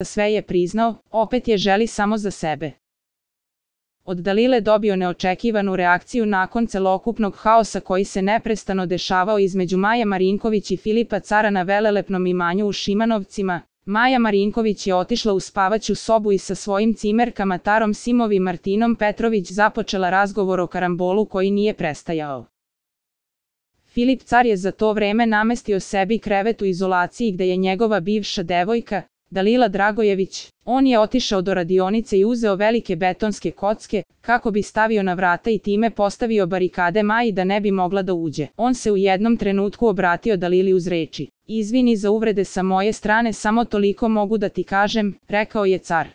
sve je priznao, opet je želi samo za sebe. Od Dalile dobio neočekivanu reakciju nakon celokupnog haosa koji se neprestano dešavao između Maje Marinković i Filipa Cara na velelepnom imanju u Šimanovcima. Maja Marinković je otišla u spavaću sobu i sa svojim cimerkama Tarom Simov i Martinom Petrović započela razgovor o karambolu koji nije prestajao. Filip Car je za to vreme namestio sebi krevet u izolaciji gde je njegova bivša devojka, Dalila Dragojević. On je otišao do radionice i uzeo velike betonske kocke, kako bi stavio na vrata i time postavio barikade Maji da ne bi mogla da uđe. On se u jednom trenutku obratio Dalili uz reči: "Izvini za uvrede sa moje strane, samo toliko mogu da ti kažem", rekao je Car.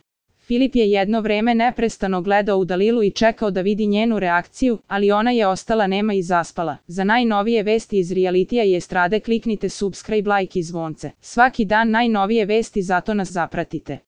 Filip je jedno vreme neprestano gledao u Dalilu i čekao da vidi njenu reakciju, ali ona je ostala nema i zaspala. Za najnovije vesti iz realitija i estrade kliknite subscribe, like i zvonce. Svaki dan najnovije vesti, zato nas zapratite.